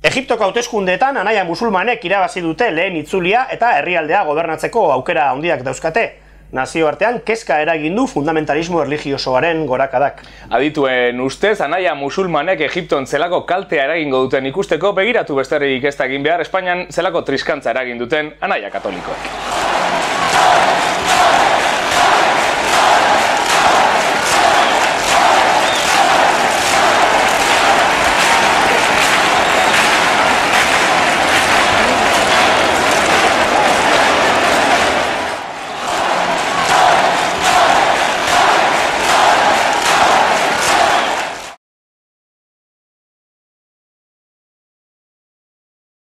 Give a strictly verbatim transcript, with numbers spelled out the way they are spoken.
Egiptoko hauteskundeetan anaia musulmanek irabazi dute lehen itzulia eta herrialdea gobernatzeko aukera handiak dauzkate. Nazioartean kezka eragin du fundamentalismo erlijiosoaren gorakadak. Adituen ustez, anaia musulmanek Egipton zelako kaltea eragingo duten ikusteko begiratu besterik ez da egin behar Espainian zelako triskantza eragin duten anaia katolikoek.